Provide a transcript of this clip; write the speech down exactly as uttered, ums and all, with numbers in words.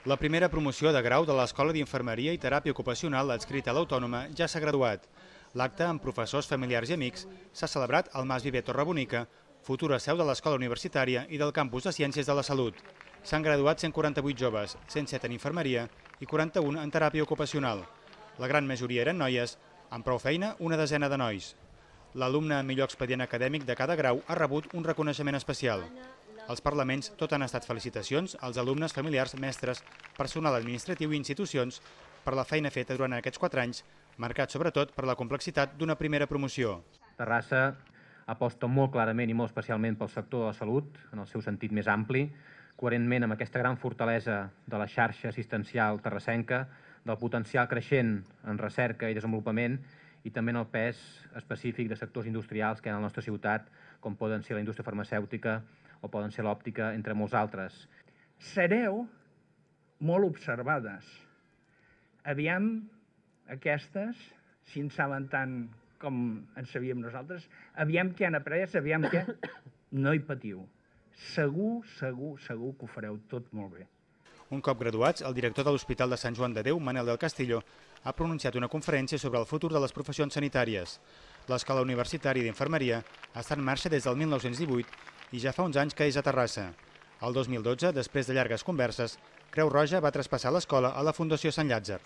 La primera promoció de grau de l'Escola d'Infermeria i Teràpia Ocupacional adscrita a l'Autònoma ja s'ha graduat. L'acte, amb professors, familiars i amics, s'ha celebrat al Mas Viver Torrebonica, futura seu de l'Escola Universitària i del Campus de Ciències de la Salut. S'han graduat cent quaranta-vuit joves, cent set en infermeria i quaranta-un en teràpia ocupacional. La gran majoria eren noies, amb prou feina una desena de nois. L'alumne amb millor expedient acadèmic de cada grau ha rebut un reconeixement especial. Als parlaments tot han estat felicitacions als alumnes, familiars, mestres, personal administratiu i institucions per la feina feta durant aquests quatre anys, marcat sobretot per la complexitat d'una primera promoció. Terrassa aposta molt clarament i molt especialment pel sector de la salut, en el seu sentit més ampli, coherentment amb aquesta gran fortalesa de la xarxa assistencial terrassenca, del potencial creixent en recerca i desenvolupament i també en el pes específic de sectors industrials que hi ha a la nostra ciutat, com poden ser la indústria farmacèutica o poden ser l'òptica, entre molts altres. Sereu molt observades. Aviam aquestes, si en saben tant com en sabíem nosaltres, aviam què han après, aviam què... No hi patiu. Segur, segur, segur que ho fareu tot molt bé. Un cop graduats, el director de l'Hospital de Sant Joan de Déu, Manel del Castillo, ha pronunciat una conferència sobre el futur de les professions sanitàries. L'Escola Universitària d'Infermeria està en marxa des del mil nou-cents divuit i ja fa uns anys que és a Terrassa. El dos mil dotze, després de llargues converses, Creu Roja va traspassar l'escola a la Fundació Sant Llàtzer.